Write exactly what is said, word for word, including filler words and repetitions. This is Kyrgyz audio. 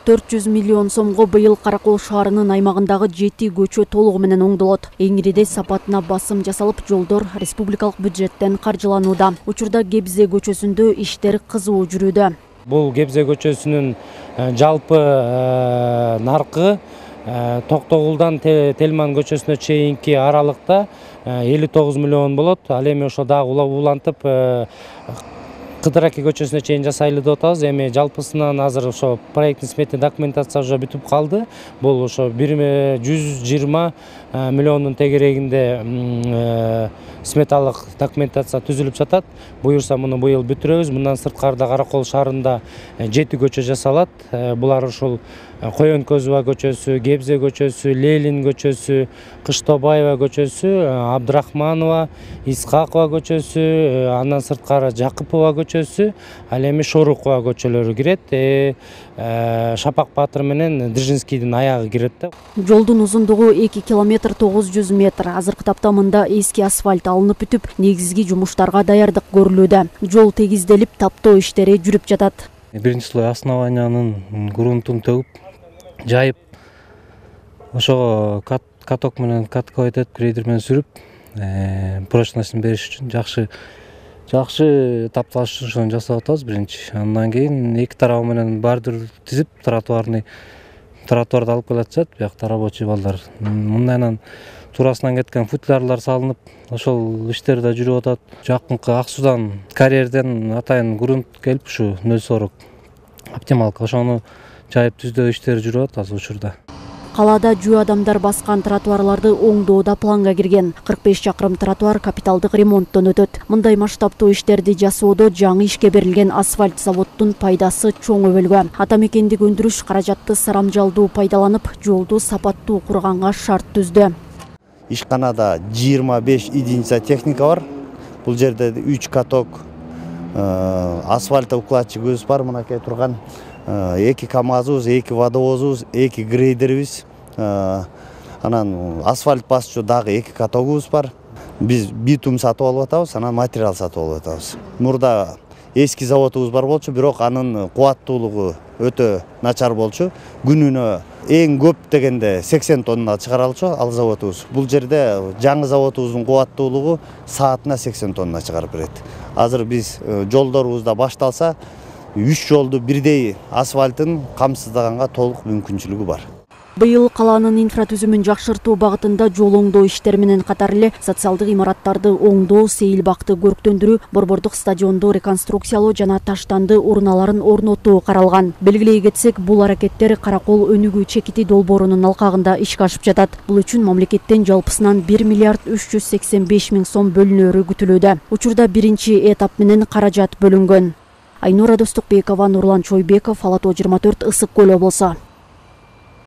төрт жүз миллион сомго быйыл Каракол шаарынын аймагындагы жети көчө толугу менен оңдолот. Эңириде сапатына басым жасалып, жолдор республикалык бюджеттен каржыланууда. Учурда Гебзе көчөсүндө иштер кызуу жүрүүдө. Бул Гебзе көчөсүнүн жалпы наркы Токтогулдан Телман көчөсүнө чейинки аралыкта элүү тогуз миллион болот. Ал эми ошо дагы улантып Кыдыраки көчөсүнө чейин жасайлы деп атабыз. Эми жалпысынан азыр ошо проектный сметный документация уже бүтүп калды. Бул ошо жүз жыйырма миллиондун тегерегинде сметалык документация түзүлүп жатат. Буюрса муну быйыл бүтүрөбүз. Мындан сырткарда Каракол шаарында жети көчө жасалат. Булар ушул Коёнкөзова көчөсү, Гебзе көчөсү, Ленин көчөсү, Кыштобаева көчөсү, Абдрахманова, Исхакова көчөсү, андан сырткары Жакыпова көчөсү, ал эми Шорукова көчөлөрү кирет. Шапак Батыр менен Дзержинскийдин аягы кирет да. Жолдун узундугу эки километр тогуз жүз метр. Азыркы тапта мында эски асфальт алынып бүтүп, негизги жумуштарга даярдык көрүлүүдө. Жол тегизделип, таптоо иштери жүрүп жатат. Биринчи слой основаниянын грунтун төгүп, жайып, ошого каток менен катковать этип, грейдер менен сүрүп, прочностун бериш үчүн жакшы жакшы тапталыш ошону жасап атабыз биринчи. Андан кийин эки тарабы менен бордюр тизип, тротуарный тротуарды алып келатышат, биякта рабочий балдар. Мындайынан туурасынан кеткен футлярлар салынып, ошол иштер да жүрүп атат. Жакынкы Ак Судан карьерден атайын грунт келип, ушу нөл сорок оптималка ошону жайып түздөө иштери жүрүп атат азыр учурда. Калаада жөө адамдар баскан тротуарларды оңдоодо планга кирген. кырк беш чакырым тротуар капиталдык ремонттон өтөт. Мындай масштабтуу иштерди жасоодо жаңы ишке берилген асфальт заводдун пайдасы чоң өбөлгө. Ата мекендик өндүрүш каражатты сарамжалдуу пайдаланып, жолду сапаттуу курганга шарт түздү. Ишканада жыйырма беш единица техника бар. Бул жерде үч каток, асфальт укладчигибиз бар, мынакей турган. эки камазыбыз, эки водовозубуз, эки грейдерибиз, анан асфальт басчу дагы эки катогубуз бар. Биз битум сатып алып атабыз, анан материал сатып алып атабыз. Мурда эски заводубуз бар болчу, бирок анын кубаттуулугу өтө начар болчу. Күнүнө эң көп дегенде сексен тонна чыгаралчу ал заводубуз. Бул жерде жаңы заводубуздун кубаттуулугу саатына сексен тонна чыгарып берет. Азыр биз жолдорубузда башталса, үч жолду бирдей асфальтын камсыздаганга толук мүмкүнчүлүгү бар. Быйыл калаанын инфратүзүмүн жакшыртуу багытында жол оңдоо иштери менен катар эле социалдык имараттарды оңдоо, сейил бакты көрктөндүрүү, борбордук стадионду реконструкциялоо жана таштанды уруналарын орнотуу каралган. Белгилей кетсек, бул аракеттер Каракол өнүгүү чекити долбоорунун алкагында ишке ашып жатат. Бул үчүн мамлекеттен жалпысынан бир миллиард үч жүз сексен беш миң сом бөлүнөрү күтүлүүдө. Учурда биринчи этап менен каражат бөлүнгөн. Айнура Достукбекова, Нурлан Чойбеков, Ала тоо жыйырма төрт, Ысык Көл облусу.